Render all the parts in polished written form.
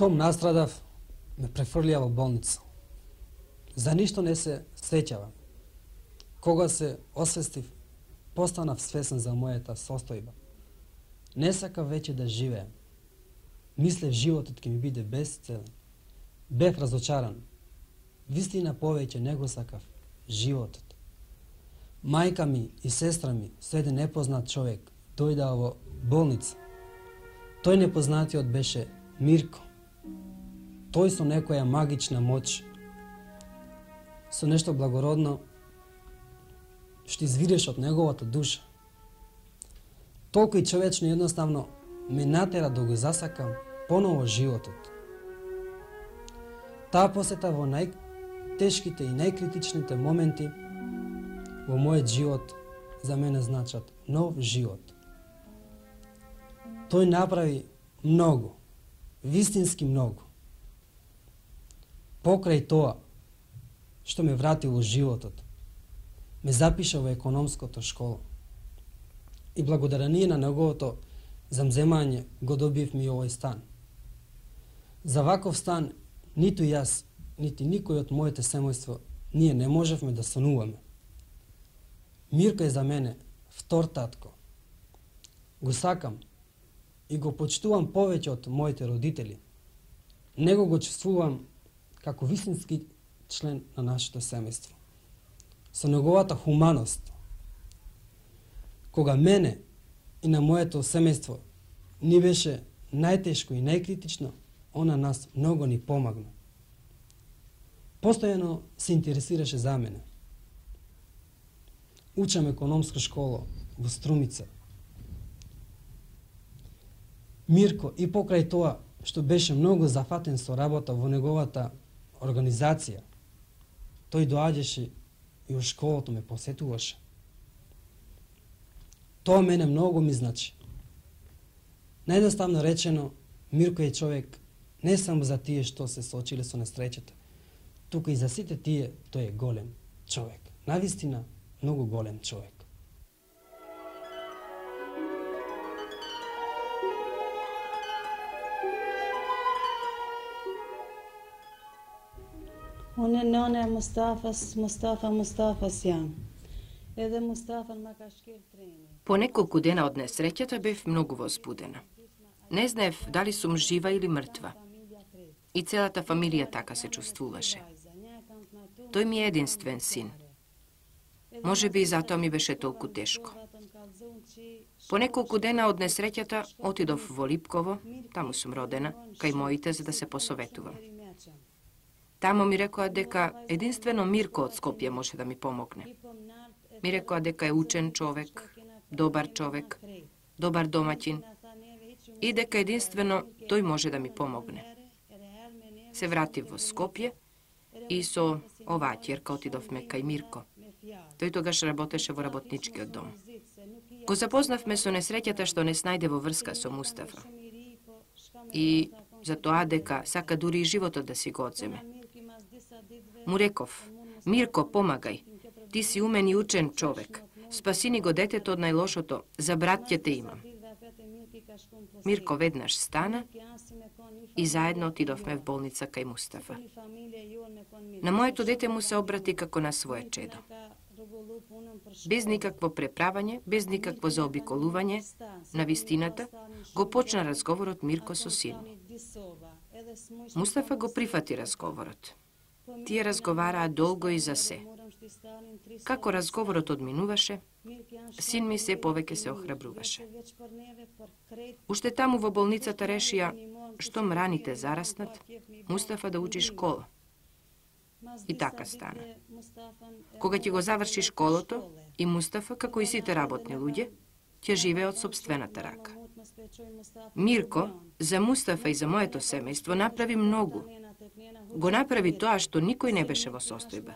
Штом настрадав, ме префрлија во болница. За ништо не се сеќавам. Кога се освестив, постанав свесен за мојата состојба. Не сакав веќе да живеем. Мислев животот ќе ми биде безцелен. Бев разочаран. Вистина повеќе не го сакав животот. Мајка ми и сестра ми со еден непознат човек дојдаа во болница. Тој непознатиот беше Мирко. Тој со некоја магична моќ, со нешто благородно, што извиреше од неговата душа. Толку и човечно едноставно ме натера да го засакам поново животот. Таа посета во најтешките и најкритичните моменти во мојот живот за мене значат нов живот. Тој направи многу, вистински многу. Покрај тоа што ме врати во животот, ме запиша во економското школа. И благодарение на неговото замземање го добив ми овој стан. За ваков стан ниту јас, нити никој од моето семејство ние не можевме да сонуваме. Мирко е за мене втор татко. Го сакам и го почитувам повеќе од моите родители. Него го чувствувам како вистински член на нашето семејство. Со неговата хуманост, кога мене и на моето семејство ни беше најтешко и најкритично, она нас многу ни помогна. Постојано се интересираше за мене. Учам економска школа во Струмица. Мирко и покрај тоа што беше многу зафатен со работа во неговата организација, тој доаѓаше и во школото ме посетуваше. Тоа мене многу ми значи. Најдоставно речено, Мирко е човек не само за тие што се соочиле со несреќата, туку и за сите тие тој е голем човек. Навистина, многу голем човек. Unë nëna e Mustafas jam. Edhe Mustafa ma ka shkel treni. По неколку дена од несреќата бев многу возбудена. Не знаев дали сум жива или мртва. И целата фамилија така се чувствуваше. Тој ми е единствен син. Може би и затоа ми беше толку тешко. По неколку дена од несреќата отидов во Липково, таму сум родена, кај моите за да се посоветувам. Тамо ми рекоа дека единствено Мирко од Скопје може да ми помогне. Ми рекоа дека е учен човек, добар човек, добар домаќин и дека единствено тој може да ми помогне. Се вратив во Скопје и со оваа ќерка отидовме кај Мирко. Тој тогаш работеше во работничкиот дом. Го запознавме со несреќата што не снајде во врска со Мустафа. И за тоа дека сака дури и животот да си го одземе. Му реков: Мирко, помагај, ти си умен и учен човек. Спаси ни го детето од најлошото, за брат ќе те имам. Мирко веднаш стана и заедно отидовме в болница кај Мустафа. На моето дете му се обрати како на свое чедо. Без никакво преправање, без никакво заобиколување на вистината, го почна разговорот Мирко со син ми. Мустафа го прифати разговорот. Тие разговараа долго и за се. Како разговорот одминуваше, син ми се повеќе се охрабруваше. Уште таму во болницата решија, штом раните зараснат, Мустафа да учи школа. И така стана. Кога ќе го заврши школото, и Мустафа, како и сите работни луѓе, ќе живее од сопствената рака. Мирко, за Мустафа и за моето семејство направи многу. Го направи тоа што никој не беше во состојба.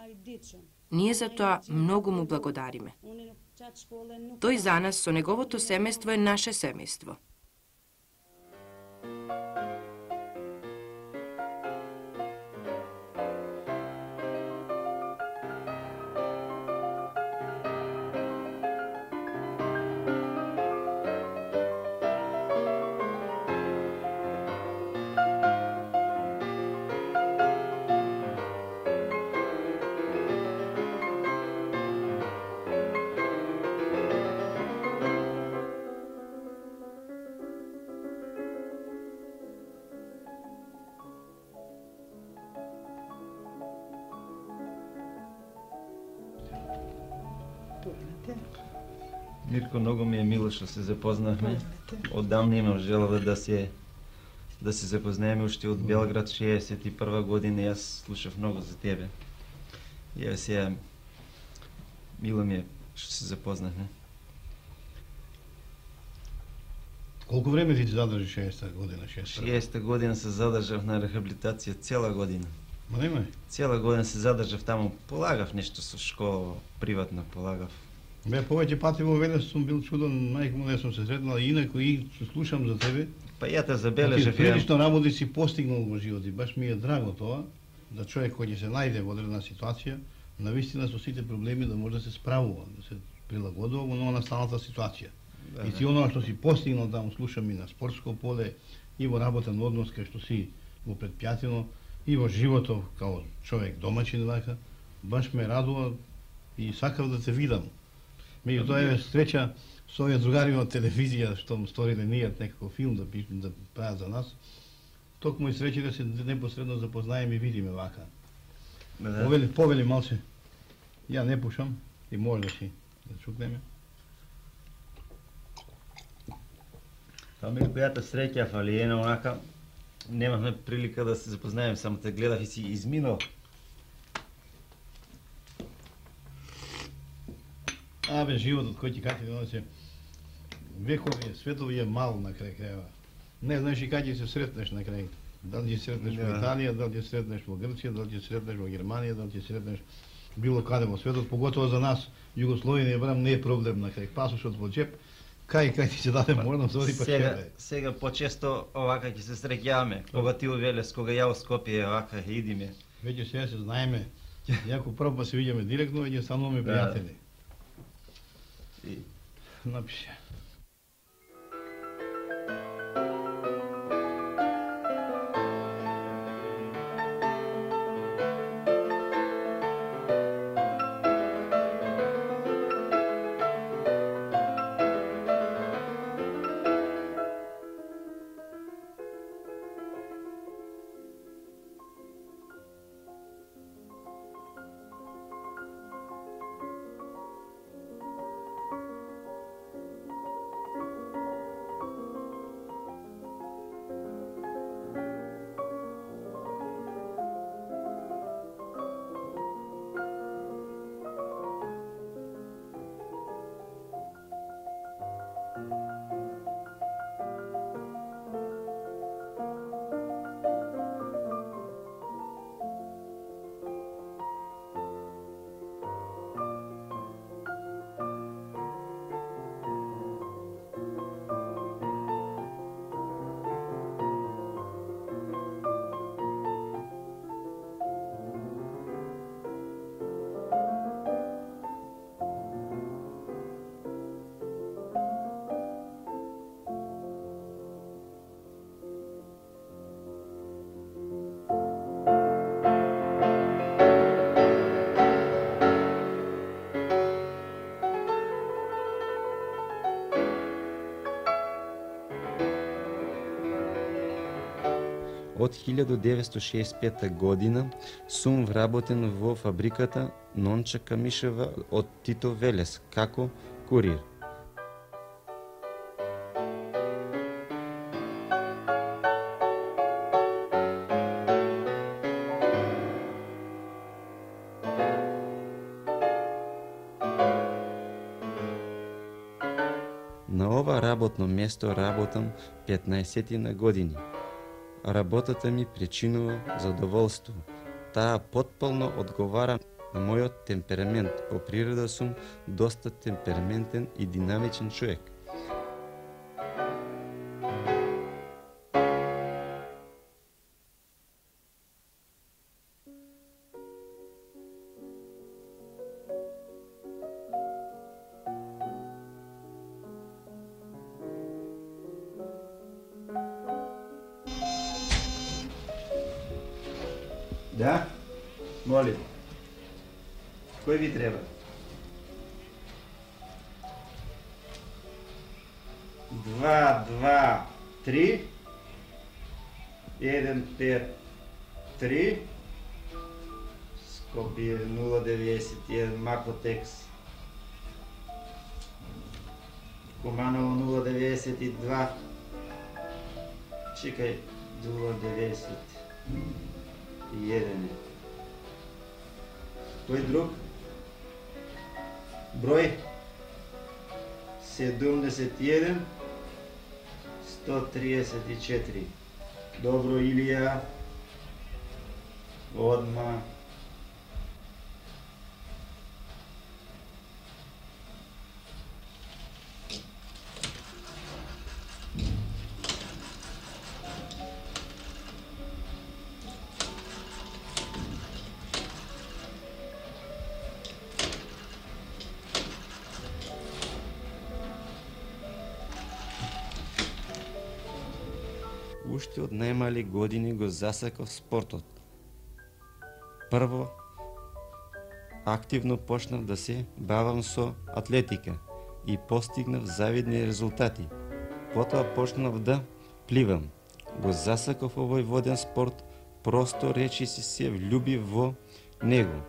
Ние за тоа многу му благодариме. Тој за нас со неговото семејство е наше семејство. Мирко, многу ми е мило што се запознавме. Одамна имам желава да се запознаеме уште од Белград 61 година. Јас слушав многу за тебе. Ја сега мило ми е што се запознавме. Колку време ти задржи 60-та година? 60-та година се задржав на рехабилитација цела година. Ма нема? Цела година се задржав таму, полагав нешто со школа, приватно полагав. Бе, повеќе пати во Велес сум бил чуден, мајка му не сум се сретнал, инаку и слушам за тебе. Па ја те забележав. Ти прилично работи си постигнал во живот и баш ми е драго тоа, да човек кој ќе се најде во одредена ситуација, навистина со сите проблеми да може да се справува, да се прилагодува во нова настаната ситуација. И ти оноа што си постигнал таму, слушам и на спортско поле, и во работен однос кај што си во предпријатино, и во животов као човек домаќин вака, баш ме радува и сакав да те видам. Меѓутоа е среќа со овие другари од телевизија што му сториле ние некако филм да прават за нас. Токму и среќа да се непосредно запознаеме и видиме вака. Повели малце. Ја не пушам и може да си да чукнеме. Тоа ми којата среќа фалиена онака. Немавме прилика да се запознаеме, само те гледав и си изминал. Абе, животот кој ти кажи, се векови, светови е мал на крај крајва. Не знаеш и кај ќе се сретнеш на крај. Дали ќе сретнеш во Италија, дали ќе сретнеш во Грција, дали ќе сретнеш во Германија, дали ќе сретнеш било каде во светот, поготово за нас Југословија барам не е проблем на крај. Пасошот во джеп, кај ти се даде морна зори па Сега почесто овака ќе се среќаваме. Кога ти у Велес, кога ја у Скопје, овака идиме. Веќе сега се знаеме. Јако прв па се видиме директно, веќе стануваме пријатели. Напише. Од 1965 година сум вработен во фабриката Нонча Камишева од Тито Велес како курир. На ова работно место работам 15 на години. Работата ми причинува задоволство. Таа потполно одговара на мојот темперамент. По природа сум доста темпераментен и динамичен човек. Да? Молим. Кој ви треба? Два, 3 153 Скопје 091 Макотекс. Куманово 0,92. Чекај, 0,91. Кој друг? Број 71 134. Добро, Илија. Одма. Уште од најмали години го засакав спортот. Прво, активно почнав да се бавам со атлетика и постигнав завидни резултати. Потоа почнав да пливам. Го засакав овој воден спорт, просто речиси се влюбив во него.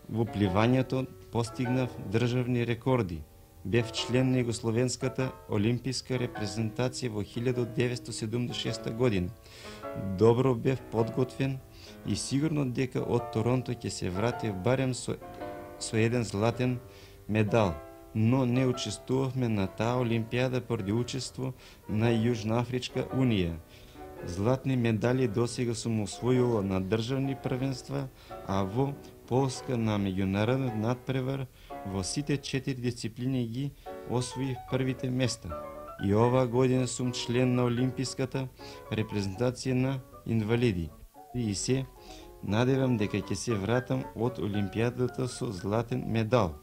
Во пливањето постигнав државни рекорди. Бев член на Југословенската олимписка репрезентација во 1976 година. Добро бев подготвен и сигурно дека од Торонто ќе се вратев барем со еден златен медал, но не учествувавме на таа олимпијада поради учество на Јужноафричка унија. Златни медали досега сум освојувал на државни првенства, а во Полска на меѓународен надпревар во сите 4 дисциплини ги освоив првите места. И оваа година сум член на олимписката репрезентација на инвалиди. И се надевам дека ќе се вратам од олимпијадата со златен медал.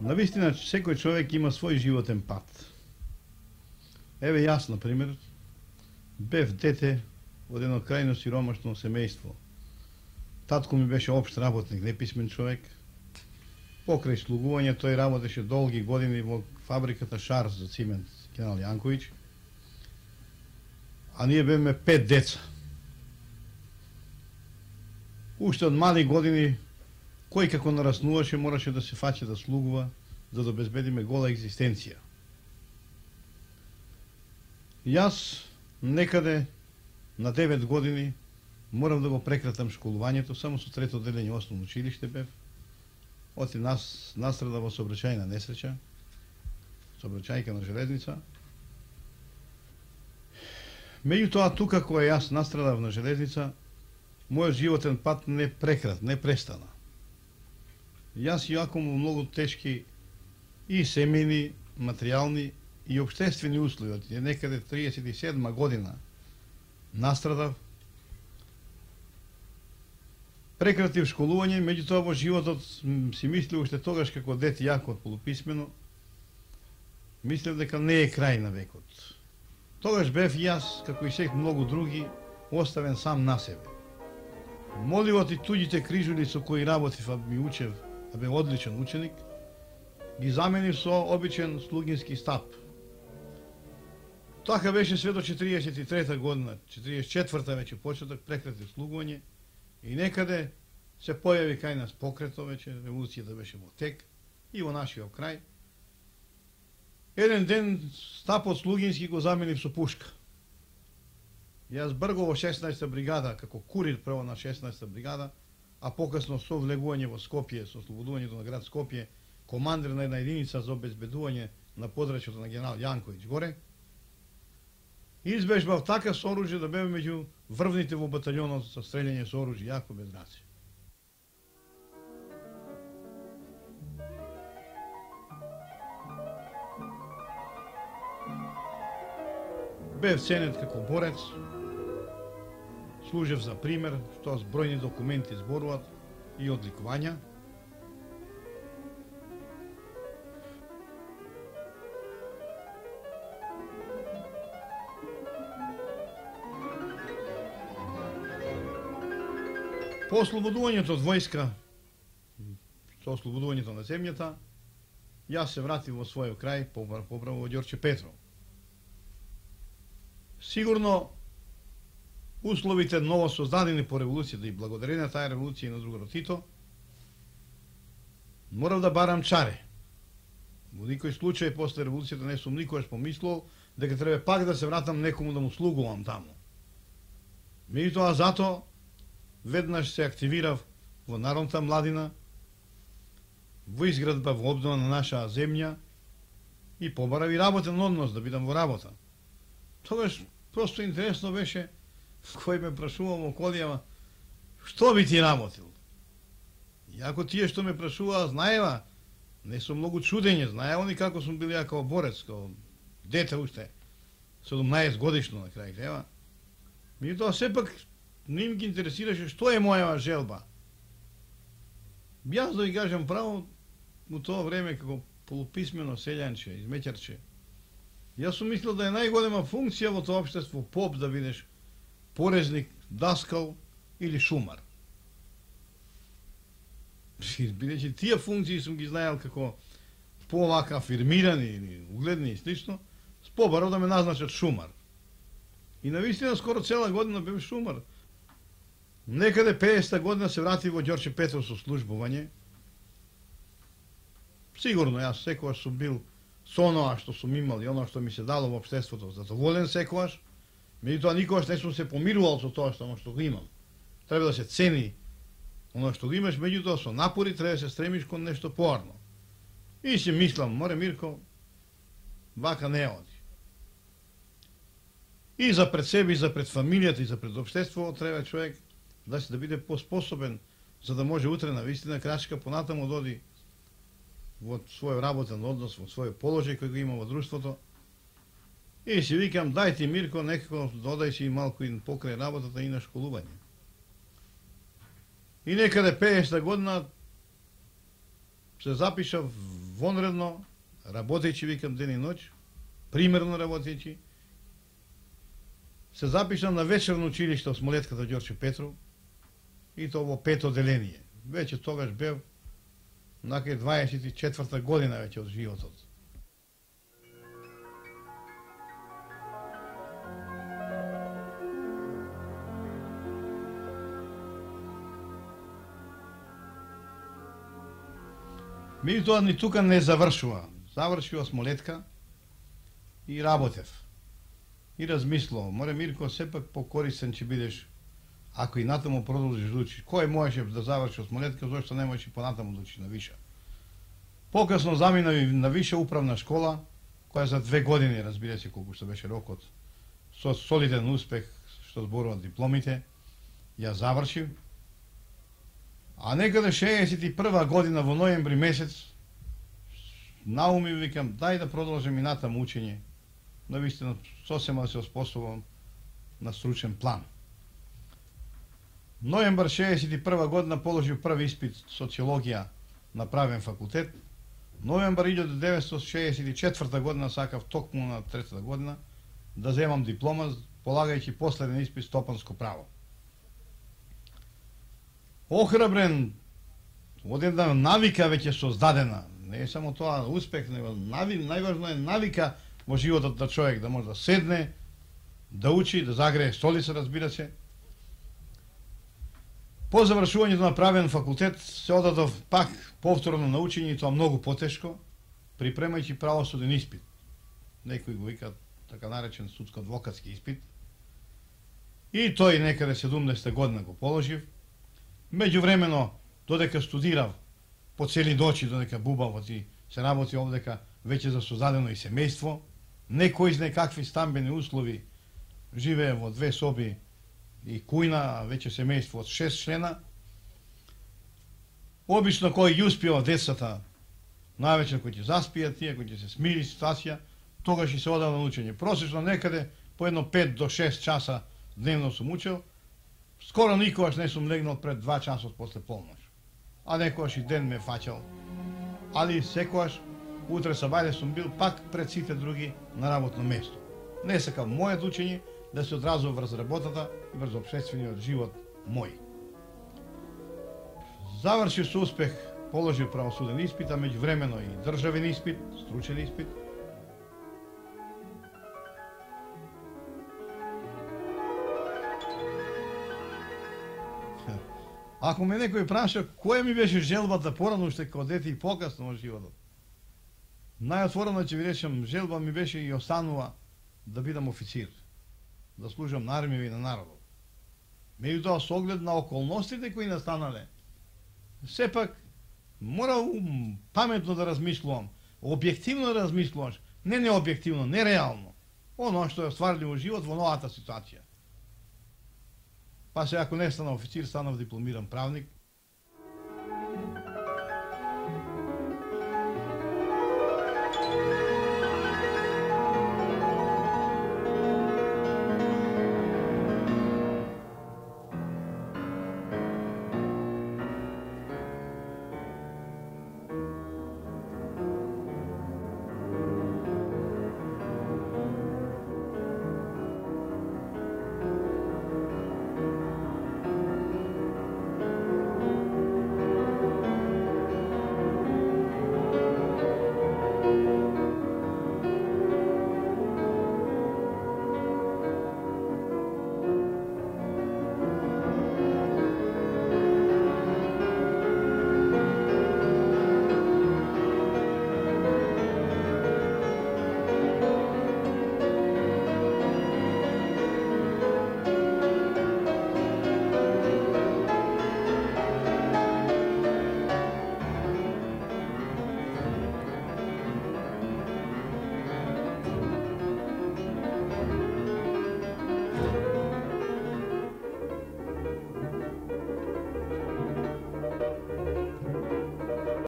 Навистина, секој човек има свој животен пат. Еве јас, например, бев дете од едно крајно сиромашно семејство. Татко ми беше општ работник, неписмен човек. Покрај слугување тој работеше долги години во фабриката Шарс за цимент, генерал Јанковиќ. А ние бевме 5 деца. Уште од мали години, кој како нараснуваше, мораше да се фаќа да слугува, за да обезбедиме гола екзистенција. Јас некаде на 9 години морав да го прекратам школувањето, само со трето одделение основно училиште бев. Оти нас настрада во сообраќајна несреќа, сообраќајка на железница. Меѓутоа, тука кога јас настрадав на железница, мојот животен пат не престана. Јас јако во многу тешки и семејни, материјални и општествени услови, од некаде 37 година настрадав, прекратив школување, меѓутоа во животот си мислив уште тогаш како дете јако полуписмено, мислев дека не е крај на векот. Тогаш бев јас, како и сек многу други, оставен сам на себе. Моливот и туѓите крижули со кои работив, а ми учев, а бе одличен ученик, ги заменив со обичен слугински стап. Така беше све до 43 година, 44-та веќе почеток, прекратив слугување и некаде се појави кај нас покрето веќе, револуцијата беше во тек и во нашиот крај. Еден ден стапот слугински го заменив со пушка. Јас брго во 16-та бригада, како курир прво на 16-та бригада, а покасно со влегување во Скопје, со ослободувањето на град Скопје, командир на една единица за обезбедување на подрачјето на генерал Јанковиќ горе, избежбав така со оружје да беме меѓу врвните во баталјонот со стрелјање со оружје, јако без раци. Бев ценет како борец, служев за пример, што збројни документи зборуваат и одликувања. По ослободувањето од војска, со ослободувањето на земјата, јас се вратив во својот крај, поправо во Ѓорче Петров. Сигурно, условите ново создадени по револуцијата и благодарение таа револуција и на другарот Тито, морав да барам чаре. Во никој случај после револуцијата не сум никогаш помислил дека треба пак да се вратам некому да му слугувам таму. Меѓутоа зато веднаш се активирав во народната младина, во изградба, во обнова на наша земја и побарав и работен однос да бидам во работа. Тогаш просто интересно беше кој ме прашувал во колијава што би ти работил. Иако тие што ме прашуваа знаева, не сум многу чудење, знаеа они како сум бил ја као борец, као дете уште, 17 годишно на крај крајава. Меѓутоа сепак не им ги интересираше што е мојава желба. Јас да ви кажам право, во тоа време како полуписмено селјанче, измеќарче, јас сум мислил да е најголема функција во тоа општество поп да бидеш порезник, даскал или шумар. Бидејќи тие функции сум ги знаел како повака афирмирани или угледни и слично, побарав да ме назначат шумар. И навистина скоро цела година бев шумар. Некаде 50-та година се врати во Ѓорче Петров со службување. Сигурно, јас секогаш сум бил со оноа што сум имал и оноа што ми се дало во општеството задоволен секогаш, меѓутоа никогаш не сум се помирувал со тоа што го имам. Треба да се цени оноа што го имаш, меѓутоа со напори треба да се стремиш кон нешто поарно. И си мислам, море Мирко, вака не оди. И за пред себе, и за пред фамилијата, и за пред општеството треба човек да биде поспособен, за да може утре на вистина крачка понатаму да оди во свој работен однос, во свој положај кој го има во друштвото. И си викам, дај ти Мирко, некако додај си малку и покрај работата и на школување. И некаде 50-та година се запишав вонредно, работејќи, викам, ден и ноќ, примерно работејќи. Се запишам на вечерно училиште во Смолетката Ѓорче Петров и тоа во 5 оделение. Веќе тогаш бев накај 24-та година веќе од животот. Меѓутоа ни тука не завршува. Завршува Смолетка и работев. И размислував, море Мирко, сепак покорисен ќе бидеш ако и натаму продолжиш да учиш. Кој можеше да заврши од Смолетка, зашто не можеш и понатаму да учиш на виша. Покасно заминав на виша управна школа, која за 2 години, разбира се колку што беше рокот, со солиден успех што зборуваат дипломите, ја завршив. А некаде 61 година во ноември месец науми викам, дај да продолжам и натаму учење. Навистина сосема да се оспособам на стручен план. Ноембар 61 година положив први испит социологија на правен факултет. Ноембар 1964 година сакав токму на 3-та година да земам диплома, полагајќи последен испит стопанско право. Охрабрен, од една навика веќе создадена, не е само тоа успех, него најважно е навика во животот на човек, да може да седне, да учи, да загрее столица, разбира се. По завршувањето на правен факултет се одадов пак повторно на учење, тоа многу потешко, припремајќи правосуден испит. Некои го викаат така наречен судско-адвокатски испит. И тој некаде 70 година го положив. Меѓувремено, додека студирав по цели ночи, додека бубав, се работи овдека веќе за создадено и семејство, некој из некакви стамбени услови живее во 2 соби и кујна, веќе семејство од 6 члена. Обично кој ја успева децата, највеќе кој ќе заспијат тие, кој ќе се смири ситуација, тогаш и се одава на учење. Просечно некаде по едно 5 до 6 часа дневно сум учел. Скоро никогаш не сум легнал пред 2 часот после полноќ. А некогаш и ден ме фаќал. Али секогаш утре сабајле сум бил пак пред сите други на работно место. Не сакам мојот учење да се одразува врз работата и врз општествениот живот мој. Завршив со успех, положив правосуден испит, а меѓувремено и државен испит, стручен испит. Ако ме некој праша која ми беше желбата порано уште како дете и покасно во животот, најотворено ќе ви речем, желба ми беше и останува да бидам официр, да служам на армија и на народот. Меѓутоа, со оглед на околностите кои настанале, сепак мора паметно да размислувам, објективно да размислуваш, не необјективно, не реално, оно што е стварливо живот во новата ситуација. Па се ако не стана официр, станав дипломиран правник,